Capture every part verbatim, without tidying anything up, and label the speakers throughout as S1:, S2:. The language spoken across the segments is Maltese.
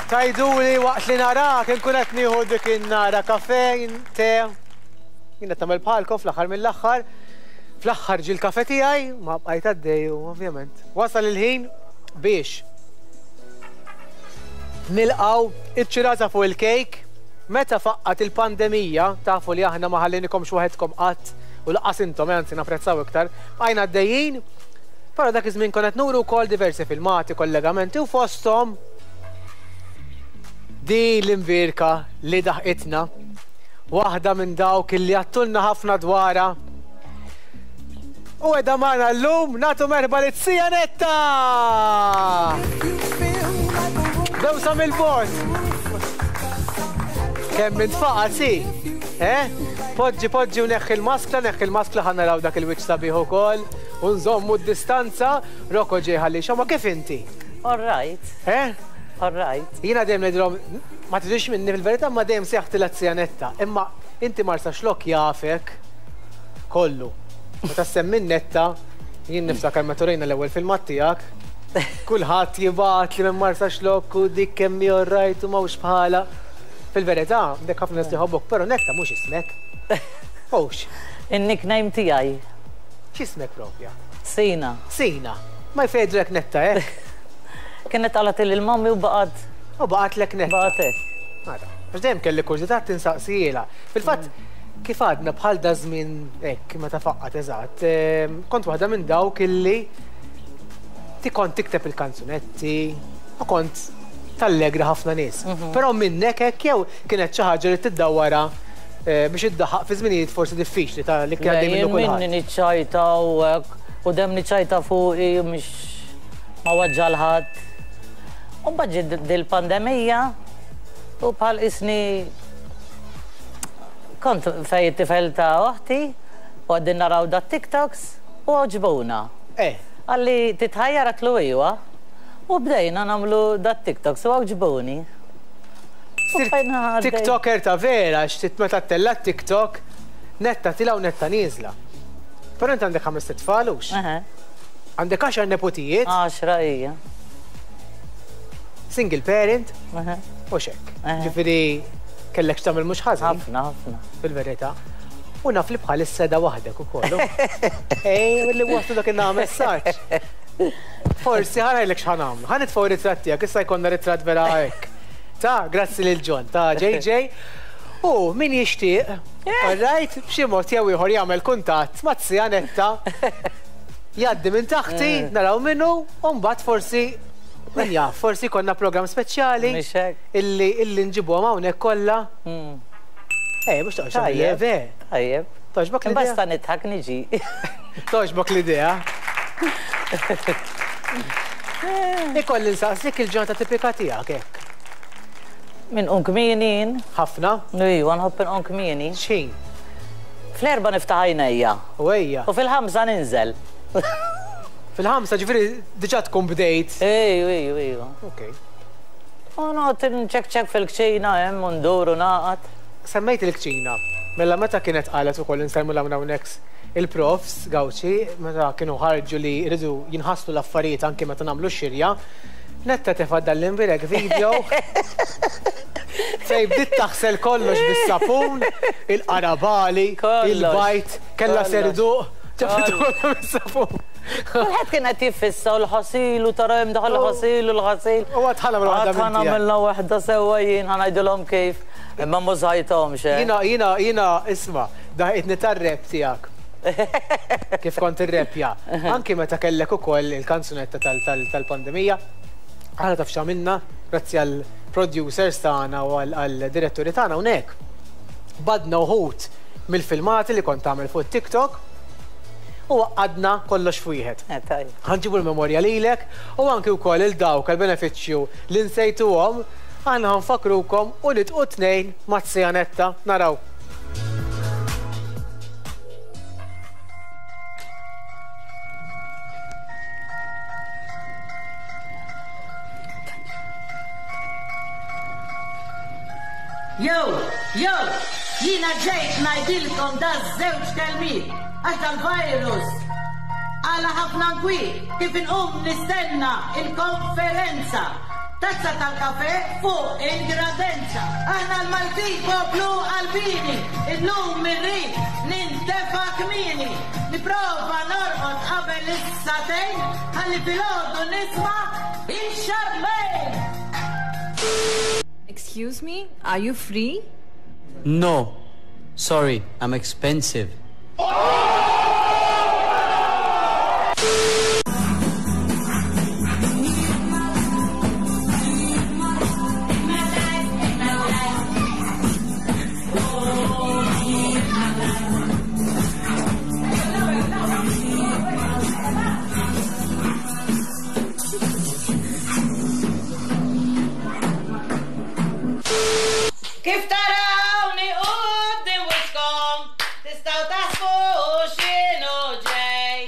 S1: Tgħiduli waqt li narak inkun qed nieħu dik in-nara kafe, te. Jien qed nagħmel bħalkom fl-aħħar mill-aħħar. Fl-aħħar ġie l-kafe tiegħi, ma bqajt għaddej u ovvjament. Wasal il-ħin biex nilqgħu iċ-ċirasa fuq il-kejk. Meta faqqat il-pandemija, tafu li aħna ma ħallinikomx waħedkom qatt u lanqas intom, anzi napprezzaw iktar, bqajna għaddejjin. Però dak iż-żmien konna qed nuru wkoll diversi filmati, kollegamenti u fosthom di l-imbierka li daħqitna, waħda minn dawk li għedtulna ħafna dwarha. U qiegħda magħna llum, nagħtu merħba lil Netta! Bewsa mill-bogħod. Kemm intfaqa' si? Eh? Poġġi, poġġi u neħħi l-maskla, neħħi l-maskla ħa naraw dak il-wiċċ sabiħ ukoll. U nżommu d-distanza. Rocco ġej ħalli xoma, kif inti?
S2: All right.
S1: Eh?
S2: All right.
S1: Jiena dejjem ngħidilhom, ma tiġix minni fil-verità, ma dejjem sejjaħtilha z-zija Netta. Imma inti Marsaxlokk jafek kollu. Meta semmi Netta, jien niftakar meta urejna l-ewwel filmat tiegħek, kulħadd jibgħat li minn Marsaxlokk u dik kemm hi all right u m'hawnx bħala. Fil-verità, dek ħafna nies jħobbok, però Netta mhux ismek. Hux.
S2: In-nickname tiegħi.
S1: X'ismek propja?
S2: Sina.
S1: Sina. Ma jfejdrek Netta, eh?
S2: Kienet qalat lil mommy u baqgħet.
S1: U baqgħetlek Netta.
S2: Baqgħet hekk.
S1: Mara, għax dejjem kelli kurżità tinsaqsijiela. Fil-fatt, kif għadna bħal da żmien hekk meta faqqat eżatt, ehm, kont waħda minn dawk illi ti kont tikteb il-kanzunetti u kont tallegra ħafna nies. Però minnek hekk jew kienet xi ħaġa li tiddawwara eh, biex iddaħħaq fi żminijiet forsi diffiċli ta' li kien għaddej minnu
S2: Jien minni
S1: kulħadd.
S2: niċċajta u hekk u dem niċċajta fuqi u mhix ma weġġa' 'l ħadd. U mbagħad ġiet dil-pandemija u bħal isni kont fej it-tifel ta' oħti u qegħdin naraw da TikToks u għoġbuna.
S1: Eh,
S2: Qalli titħajjar, għedtlu iwa. U bdejna nagħmlu da TikToks u għoġbuni. U
S1: Sirt
S2: bqajna għaddej.
S1: TikToker ta' vera, xtit meta ttella' TikTok, Netta tielgħa u Netta nieżla. Però inti għandek ħames tfal hux?
S2: Eħe,
S1: Għandek għaxar nepotijiet,
S2: Għaxra hija.
S1: Single parent,
S2: Eħe,
S1: u xek.
S2: Eħe.
S1: Ġifieri kellek x'tagħmel mhux ħażin
S2: Ħafna, ħafna.
S1: fil-verità. U naf li bħalissa da waħdek ukoll. Ej, li waslu dak in messaġġ. Forsi ħa ngħidlek x'ħa nagħmlu. Ħa nitfgħu ritratt tiegħek, issa jkollna ritratt vera hekk. Ta' grazzi lil John, ta' J J. U min jixtieq, all right, b'xi mod jew ieħor jagħmel kuntatt ma' zija Netta, jgħaddi minn taħti, naraw minnu, u mbagħad forsi min jaf, forsi konna programm speċjali
S2: Mhix hekk.
S1: illi illi nġibuhom hawnhekk kollha.
S2: Mm.
S1: Ej, mhux toqgħodx
S2: Tajjeb.
S1: ve.
S2: Tajjeb.
S1: Togħġbok l-idea?
S2: Basta nidħak niġi.
S1: Togħġbok l-idea? Ikolli nsaqsik il-ġurnata tipika tiegħek hekk.
S2: Min un kmieni.
S1: Ħafna?
S2: Iwa, nħobb inqum kmieni.
S1: X'ħin?
S2: Fl-erba niftaħ għajnejja.
S1: U ejja.
S2: U fil-ħamsa ninżel.
S1: Fil-ħamsa ġifieri diġà tkun bdejt.
S2: Ejju, ejju, ejju.
S1: Ok.
S2: U noqgħod nċekċek fil-kċina hemm u ndur u naqgħad.
S1: Semmejt il-kċina. Mela meta kienet qalet ukoll insellmu l hawnhekk il-profs Gawċi, meta kienu ħarġu li jridu jinħaslu l-affarijiet anke meta nagħmlu x-xirja, Netta tefa' dal-imbierek video fej bdiet taħsel kollox bis-sapun, il-qarabali,
S2: Kollox.
S1: il-bajd, kella
S2: Kollox.
S1: serduq, ġabitu
S2: Kollox.
S1: kollu bis-sapun.
S2: Kulħadd kien qed jiffissa u l-ħasil u tara hemm daħal l-ħasil u l-ħasil.
S1: U għad ħa nagħmel waħda
S2: Għad
S1: minn tiegħek.
S2: nagħmilna waħda sewwa jien, ħa ngħidilhom kif. Imma mużajthomx. eh.
S1: Jiena, jiena, jiena, isma', daħitni tar-rap tiegħek. Kif kont irrepja. Anki meta kellek ukoll il-kanzunetta tal- tal- tal-pandemija, aħna taf x'għamilna, grazzi għal producers tagħna u għal diretturi tagħna hawnhekk. Badna uħud mill-filmati li kont tagħmel fuq TikTok u għadna kollox f'wieħed.
S2: Eh, tajjeb.
S1: Ħa nġibu l-memorja lilek u anki wkoll il dawk għal-benefiċċju li nsejtuhom, aħna ħa nfakkrukom u nitqu tnejn ma' Netta naraw.
S2: Yo, yo, jiena ġejt ngħidilkom da żewġ kelmiet, għax dal-virus għala ħafna nkwiet, kif inqum nistenna il-konferenza. Tazza tal-kafe fuq il-gradenza. Aħna l-Maltin poplu qalbieni, illum irrid nintefa kmieni. Nipprova norqod qabel is-sagħtejn, ħalli filgħodu nisma' il-Charmaine.
S3: Excuse me, are you free?
S4: No. Sorry, I'm expensive.
S2: Kif tarawni quddiem wiċċkom, tistgħu taħsbu x'inhu ġej.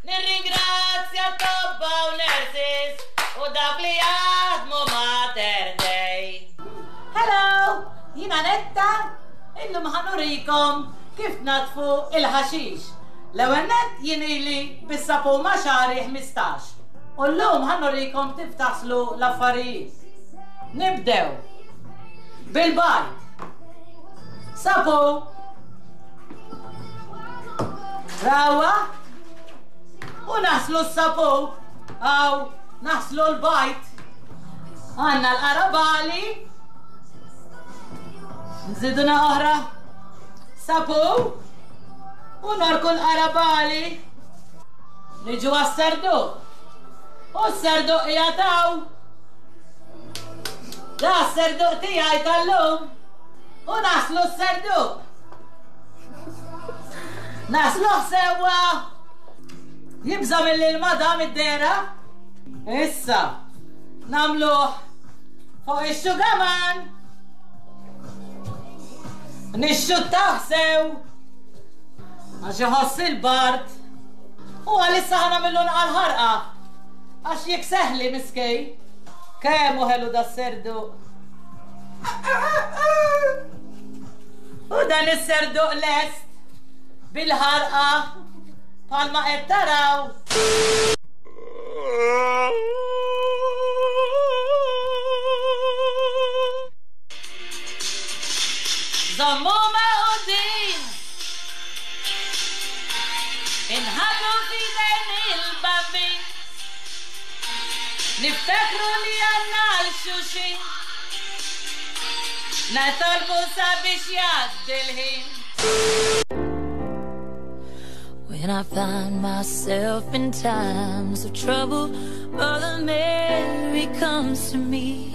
S2: Nirringrazzja t-tobba u nurses u dawk li jaħdmu Mater Dei. Hello, jiena Netta, illum ħa nurikom kif natfu il-ħaxix. L-ewwel nett jien ili bis-sapun ma' xagħri ħmistax. U llum ħa nurikom kif taħslu l-affarijiet. Nibdew bil-bajd. Sapu. Rawa. U naħslu s-sapu. Aw, naħslu l-bajd. Għandna l-qarabagħli. Nżiduna oħra. Sapu. U norku l-qarabagħli. Niġu għas-serduq. U s-serduq jataw. Da s-serduq tiegħi tal-lum. U naħslu s-serduq. Naħsluh sewwa. Jibża' mill-ilma da mid-dehra. Issa, nagħmluh fuq ix-xugaman. Nixxuttah sew. Għax iħoss il-bard. U għalissa ħa nagħmillu naqal ħarqa. Għax jek seħli miskej. Kemm hu ħelu da s-serduq. U dan is-serduq lest bil-ħarqa bħalma qed taraw. Żommu maqudin, inħallu f'idejn il-Bambin. Niftakru li għandna għal xulxin, nitolbu sabiex jgħaddi l-ħin.
S3: When I find myself in times of trouble, Mother Mary comes to me,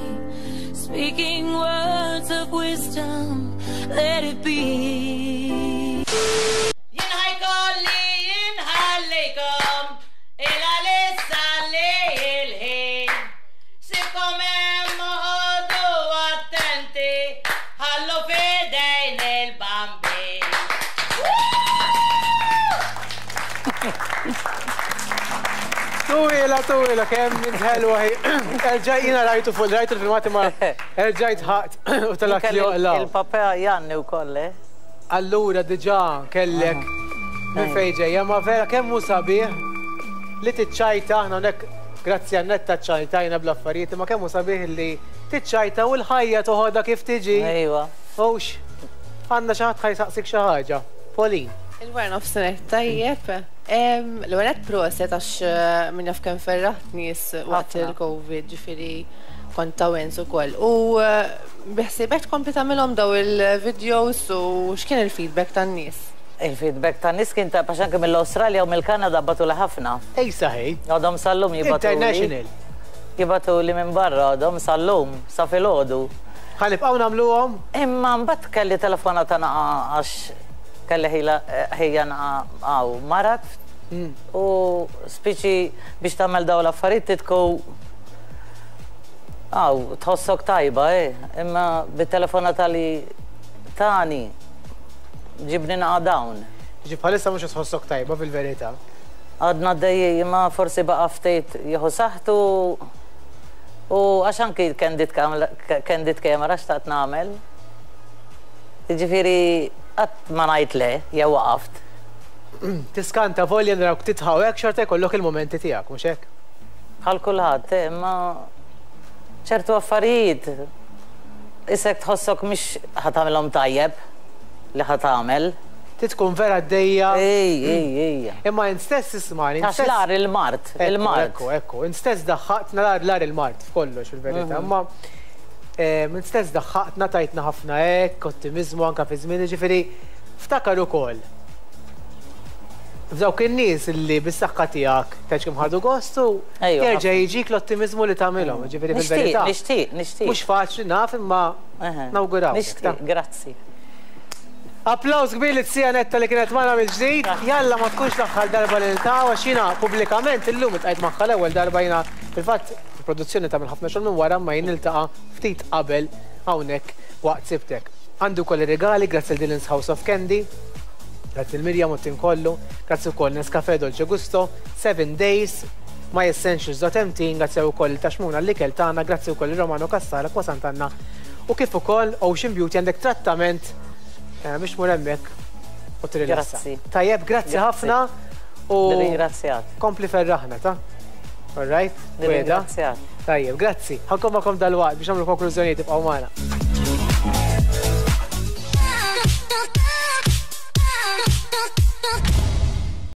S3: speaking words of wisdom, let it be.
S2: Jien ħa jkolli inħallikom, il-għalissa li il-ħin. Sibkom hemm oqogħdu attenti, ħallu f'idejn il-Bambin.
S1: Twila, twila, kemm int ħelwa hi. Erġaj jiena rajtu fuq, rajtu l-filmati ma erġajt ħaqt u talak li joqlaw.
S2: Il-papà Janni wkoll, eh?
S1: Allura diġà kellek minn fejn ġejja, ma vera kemm hu sabiħ li tiċċajta aħna hawnhekk grazzi għan Netta ċċajtajna bl-affarijiet, imma kemm hu sabiħ li tiċċajta u l-ħajja toħodha kif tiġi.
S2: Ejwa.
S1: Hux, għandna xi ħadd ħa jsaqsik xi ħaġa. Pauline.
S5: Il-wara nofsinhar tajjeb. L-ewwel nett proset għax min jaf kemm ferraħt nies waqt
S2: Ħafna.
S5: il-Covid, ġifieri kont ta' wens ukoll. U biħsibek tkompli tagħmilhom daw il-videos u x'kien il-feedback tan-nies?
S2: Il-feedback tan-nies kien ta' għax anke mill-Awstralja u mill-Kanada bagħtuli ħafna.
S1: Ej saħi.
S2: Għadhom sal-lum jibagħtuli.
S1: International.
S2: Jibagħtuli minn barra għadhom sal-lum, sa filgħodu.
S1: Ħa nibqgħu nagħmluhom?
S2: Imma mbagħad kelli telefonata naqa għax kelli ħila ħejja naqa għaw marat u spiċi biex tagħmel dawn l-affarijiet titku għaw tħossok tajba, eh? Imma bit-telefonata li tani ġibni naqa dawn.
S1: Ġi bħalissa mhux tħossok tajba fil-verità.
S2: Għadna d-dejji, imma forsi baqa ftit jieħu saħħtu u għax anki candid candid camera xtaqt nagħmel. Jiġifieri qatt ma ngħid le, jew waqaft.
S1: Tiskanta volja narawk titħawek xorta jkollok il-momenti tiegħek, mhux hekk?
S2: Bħal kulħadd, eh, imma ċertu affarijiet isek tħossok mhix ħa tagħmilhom tajjeb li ħa tagħmel.
S1: Tkun vera għaddejja.
S2: Ej, ej, ej.
S1: Imma int stess ismani.
S2: Għax l-agħar il-mard, il-mard.
S1: Ekku, ekku, int stess daħħaqtna l-agħar il-mard f'kollox fil-verità.
S2: Mhm.
S1: Imma int stess daħħaqtna, tajtna ħafna hekk, ottimizmu anka fi żmien, ġifieri ftakar ukoll f'dawk in-nies li bis-saħħa tiegħek tgħidx kemm ħadu gostu, jerġa' jiġik l-ottimizmu li tagħmilhom, ġifieri fil-verità.
S2: Nixtieq, nixtieq.
S1: Mhux faċli naf, imma nawguraw.
S2: Nixtieq, grazzi.
S1: Applaus kbir li t-sija Netta li kienet magħna mill-ġdid. Jalla ma tkunx l-aħħar darba li niltaqgħu, għax jiena pubblikament illum iltqajt magħha l-ewwel darba. Jiena fil-fatt il-produzzjoni tagħmel ħafna xogħol minn wara, ma jien niltaqa' ftit qabel hawnhekk waqt Sibtek. Għandu wkoll ir-regali grazzi l Dylan's House of Candy, grazzi l-Mirjam u t-tim kollu, grazzi wkoll Nescafe Dolce Gusto, seven Days, My Essentials dot M T, grazzi wkoll taxmuna l-ikel tagħna, grazzi wkoll Romano Kassara, Kwa Sant'Anna u kif ukoll Ocean Beauty. Għandek trattament eh, biex mur hemmhekk u tirilassa.
S2: Grazzi.
S1: Tajjeb, grazzi ħafna u
S2: Nirringrazzjak.
S1: kompli ferraħna ta'. All right?
S2: Nirringrazzjak.
S1: Tajjeb, grazzi. Ħa nkun magħkom dalwaqt biex nagħmlu konklużjonijiet, tibqgħu magħna.